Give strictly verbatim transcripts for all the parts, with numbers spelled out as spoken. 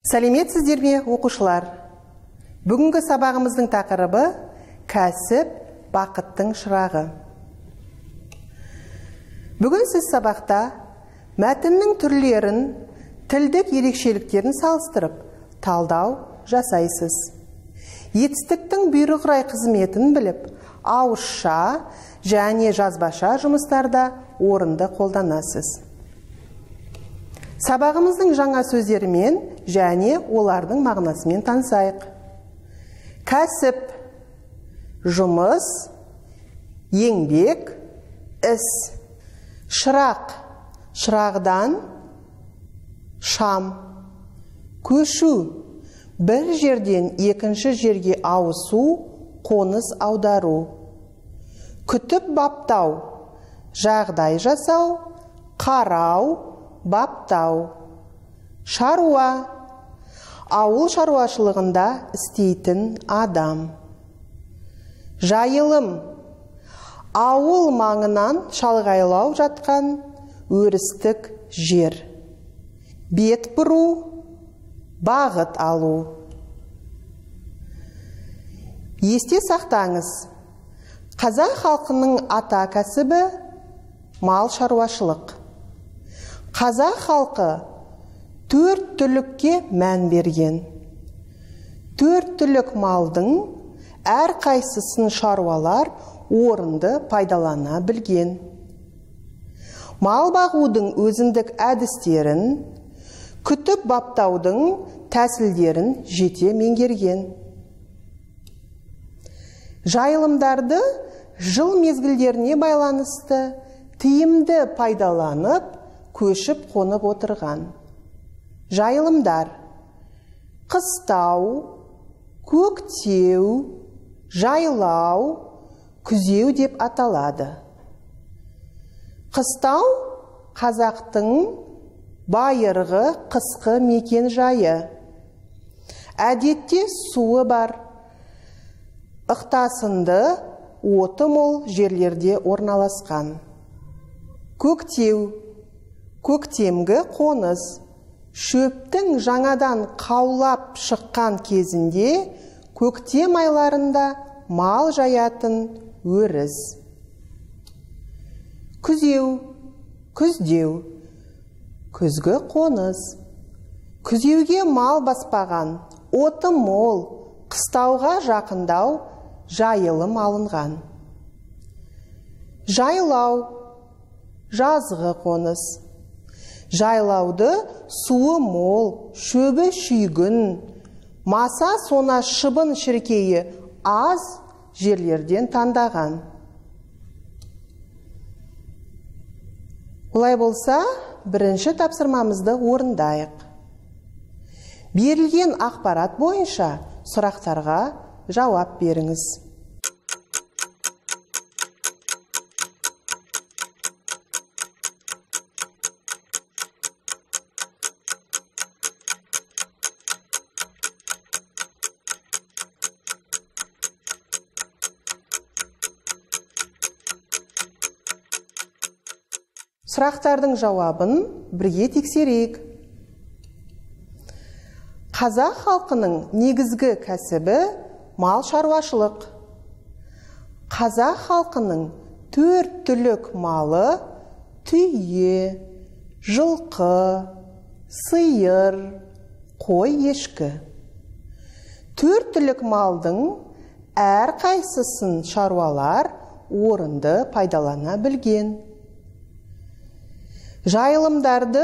Сәлеметсіздер ме, оқушылар? Бүгінгі сабағымыздың тақырыбы кәсіп бақыттың шырағы. Бүгін сіз сабақта мәтіннің түрлерін, тілдік ерекшеліктерін салыстырып, талдау жасайсыз. Етістіктің бұйрықрай қызметін біліп, ауызша және жазбаша жұмыстарда орынды қолданасыз. Сабағымыздың жаңа сөздерімен және олардың мағынасымен танысайық. Кәсіп, жұмыс, еңбек, іс. Шырақ, шырағдан, шам. Көшу, бір жерден екінші жерге ауысу, қоныс аудару. Күтіп баптау, жағдай жасау, қарау, баптау. Шаруа, ауыл шаруашылығында істейтін адам. Жайылым, ауыл маңынан шалғайлау жатқан өрістік жер. Бет бұру, бағыт алу. Есте сақтаңыз, қазақ халқының ата кәсібі мал шаруашылық. Қазақ халқы төрт түлікке мән берген. Төрт түлік малдың әр қайсысын шаруалар орынды пайдалана білген. Мал бағудың өзіндік әдістерін, күтіп баптаудың тәсілдерін жете меңгерген. Жайылымдарды жыл мезгілдеріне байланысты тиімді пайдаланып, көшіп қонып отырған. Жайылымдар қыстау, көктеу, жайлау, күзеу деп аталады. Қыстау қазақтың байырғы қысқы мекен жайы. Әдетте суы бар, ықтасынды, оты мол жерлерде орналасқан. Көктеу, көктемгі қоныс. Шөптің жаңадан қаулап шыққан кезінде көктем айларында мал жаятын өріс. Күзеу, күздеу, күзгі қоныс. Күзеуге мал баспаған, оты мол, қыстауға жақындау жайылым алынған. Жайлау, жазғы қоныс. Жайлауды суы мол, шөбі шүйгін, маса сона шыбын шіркейі аз жерлерден таңдаған. Олай болса, бірінші тапсырмамызды орындайық. Берілген ақпарат бойынша сұрақтарға жауап беріңіз. Сұрақтардың жауабын бірге тексерейік. Қазақ халқының негізгі кәсібі мал шаруашылық. Қазақ халқының төрт түлік малы түйе, жылқы, сиыр, қой, ешкі. Төрт түлік малдың әр қайсысын шаруалар орынды пайдалана білген. Жайылымдарды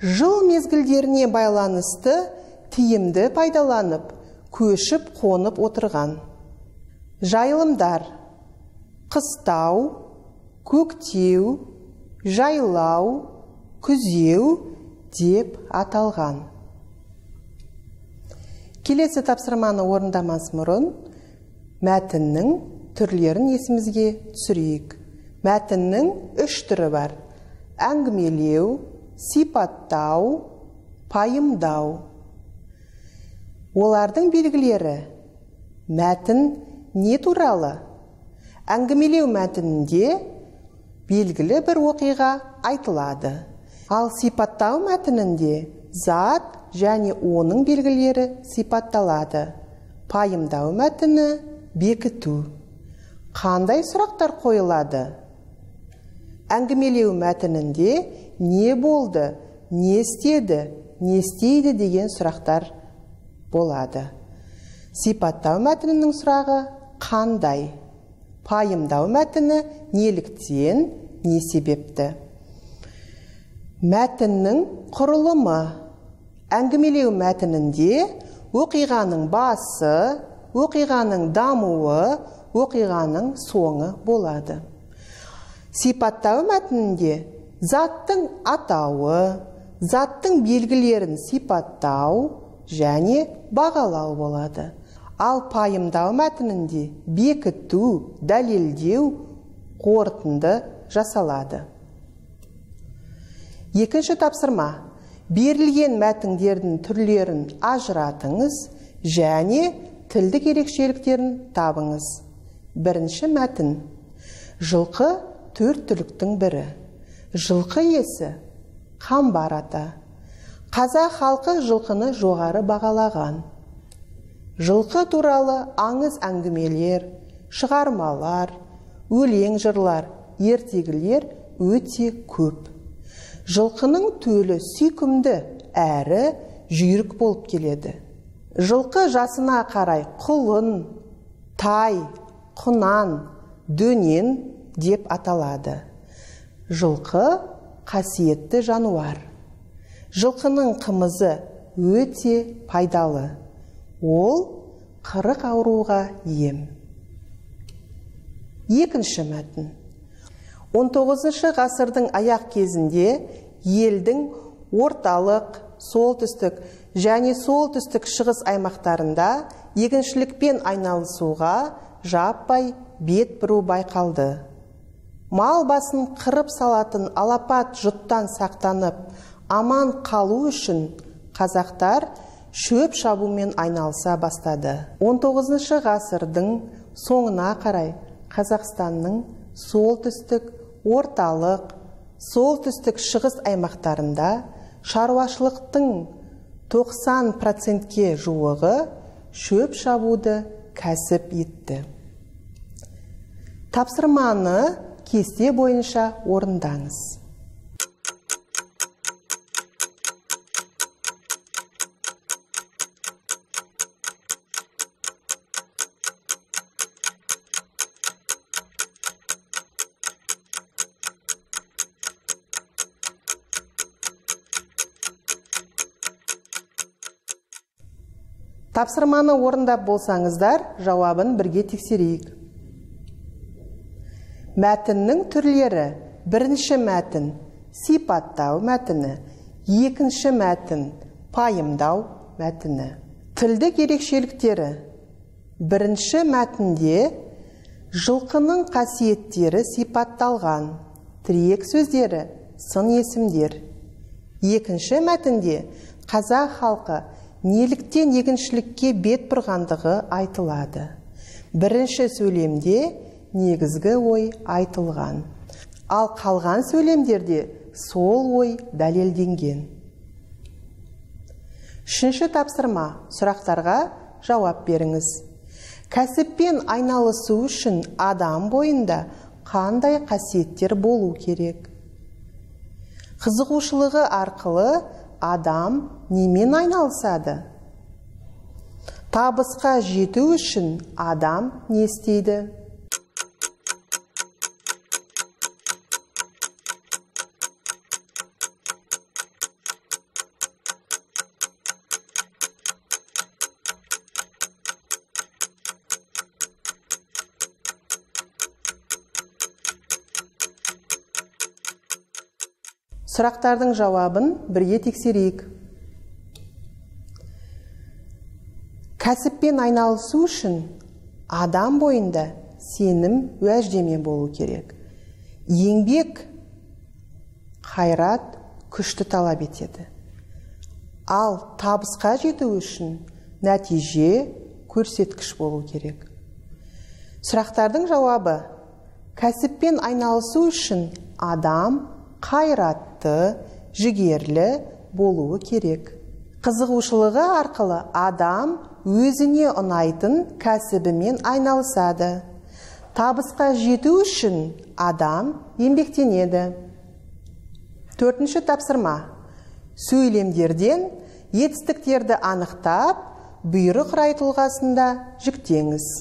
жыл мезгілдеріне байланысты тиімді пайдаланып, көшіп қонып отырған. Жайылымдар қыстау, көктеу, жайлау, күзеу деп аталған. Келесі тапсырманы орындамас бұрын мәтіннің түрлерін есімізге түсірейік. Мәтіннің үш түрі бар. Әңгімелеу, сипаттау, пайымдау. Олардың белгілері: мәтін не туралы? Әңгімелеу мәтінінде белгілі бір оқиға айтылады. Ал сипаттау мәтінінде зат және оның белгілері сипатталады. Пайымдау мәтіні бекіту. Қандай сұрақтар қойылады? Әңгімелеу мәтінінде не болды, не істеді, не істейді деген сұрақтар болады. Сипаттау мәтінінің сұрағы қандай? Пайымдау мәтіні неліктен, не себепті? Мәтіннің құрылымы. Әңгімелеу мәтінінде оқиғаның басы, оқиғаның дамуы, оқиғаның соңы болады. Сипаттау мәтінінде заттың атауы, заттың белгілерін сипаттау және бағалау болады. Ал пайымдау мәтінінде бекіту, дәлелдеу, қорытынды жасалады. Екінші тапсырма. Берілген мәтіндердің түрлерін ажыратыңыз және тілдік ерекшеліктерін табыңыз. Бірінші мәтін. Жылқы төрт түліктің бірі. Жылқы иесі қамбар ата. Қазақ халқы жылқыны жоғары бағалаған. Жылқы туралы аңыз әңгімелер, шығармалар, өлең жырлар, ертегілер өте көп. Жылқының төлі сүйкімді әрі жүйрік болып келеді. Жылқы жасына қарай құлын, тай, құнан, дөнен деп аталады. Жылқы қасиетті жануар. Жылқының қымызы өте пайдалы. Ол қырық ауруға ем. Екінші мәтін. он тоғызыншы ғасырдың аяқ кезінде елдің орталық, солтүстік және солтүстік шығыс аймақтарында егіншілікпен айналысуға жаппай бет бұру байқалды. Мал басын қырып салатын алапат жұттан сақтанып, аман қалу үшін қазақтар шөп шабумен айналыса бастады. он тоғызыншы ғасырдың соңына қарай Қазақстанның солтүстік, орталық, солтүстік шығыс аймақтарында шаруашылықтың тоқсан процентке жуығы шөп шабуды кәсіп етті. Тапсырманы кесте бойынша орындаңыз. Тапсырманы орындап болсаңыздар, жауабын бірге тексерейік. Мәтіннің түрлері. Бірінші мәтін сипаттау мәтіні, екінші мәтін пайымдау мәтіні. Тілдік ерекшеліктері. Бірінші мәтінде жылқының қасиеттері сипатталған, тірек сөздері, сын есімдер. Екінші мәтінде қазақ халқы неліктен егіншілікке бет бұрғандығы айтылады. Бірінші сөйлемде негізгі ой айтылған. Ал қалған сөйлемдерде сол ой дәлелденген. Үшінші тапсырма. Сұрақтарға жауап беріңіз. Кәсіппен айналысу үшін адам бойында қандай қасиеттер болу керек? Қызығушылығы арқылы адам немен айналысады? Табысқа жету үшін адам не істейді? Сұрақтардың жауабын бірге тексерейік. Кәсіппен айналысу үшін адам бойында сенім уәждеме болу керек. Еңбек, қайрат, күшті талап етеді. Ал табысқа жету үшін нәтиже көрсеткіш болу керек. Сұрақтардың жауабы. Кәсіппен айналысу үшін адам қайратты, жігерлі, болуы керек. Қызығушылығы арқылы адам өзіне ұнайтын кәсібімен айналысады. Табысқа жету үшін адам еңбектенеді. Төртінші тапсырма. Сөйлемдерден етістіктерді анықтап, бұйрық рай тұлғасында жүктеңіз.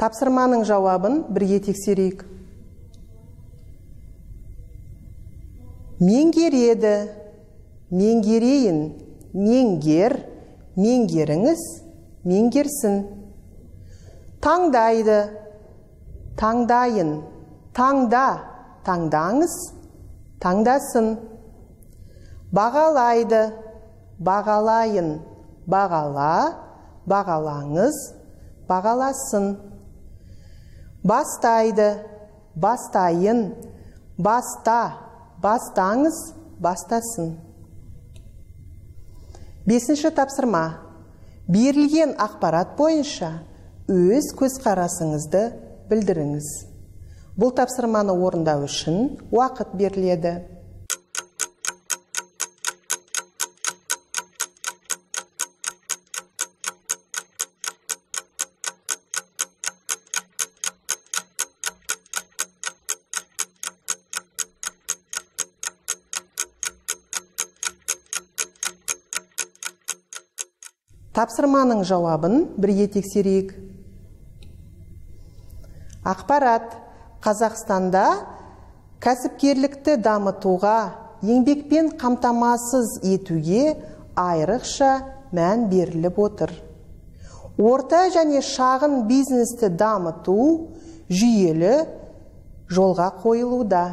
Тапсырманың жауабын бірге тексерейік. Меңгереді, меңгерейін, меңгер, меңгеріңіз, меңгерсін. Таңдайды, таңдайын, таңда, таңдаңыз, таңдасын. Бағалайды, бағалайын, бағала, бағалаңыз, бағаласын. Бастайды, бастайын, баста, бастаңыз, бастасын. Бесінші тапсырма. Берілген ақпарат бойынша өз көзқарасыңызды білдіріңіз. Бұл тапсырманы орындау үшін уақыт беріледі. Тапсырманың жауабын бірге тексерейік. Ақпарат Қазақстанда кәсіпкерлікті дамытуға, еңбекпен қамтамасыз етуге айрықша мән беріліп отыр. Орта және шағын бизнесті дамыту жүйелі жолға қойылуда.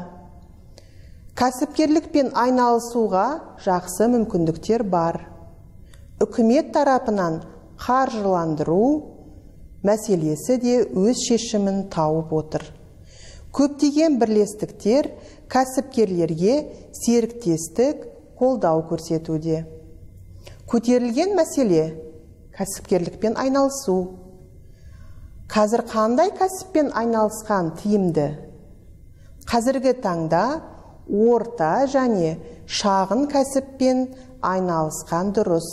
Кәсіпкерлікпен айналысуға жақсы мүмкіндіктер бар. Үкімет тарапынан қаржыландыру мәселесі де өз шешімін тауып отыр. Көптеген бірлестіктер кәсіпкерлерге серіктестік қолдау көрсетуде. Көтерілген мәселе кәсіпкерлікпен айналысу. Қазір қандай кәсіппен айналысқан тиімді? Қазіргі таңда орта және шағын кәсіппен айналысқан дұрыс.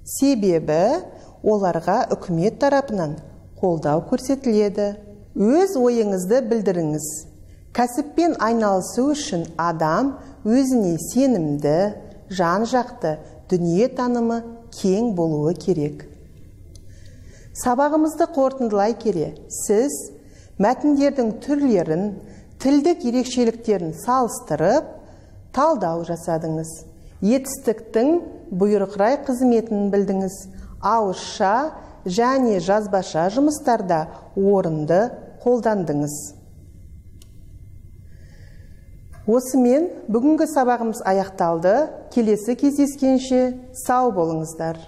Себебі оларға үкімет тарапынан қолдау көрсетіледі. Өз ойыңызды білдіріңіз. Кәсіппен айналысу үшін адам өзіне сенімді, жан-жақты, дүние танымы кең болуы керек. Сабағымызды қорытындылай келе, сіз мәтіндердің түрлерін, тілдік ерекшеліктерін салыстырып, талдау жасадыңыз. Етістіктің бұйрықрай қызметін білдіңіз. Ауызша және жазбаша жұмыстарда орынды қолдандыңыз. Осымен бүгінгі сабағымыз аяқталды. Келесі кездескенше сау болыңыздар.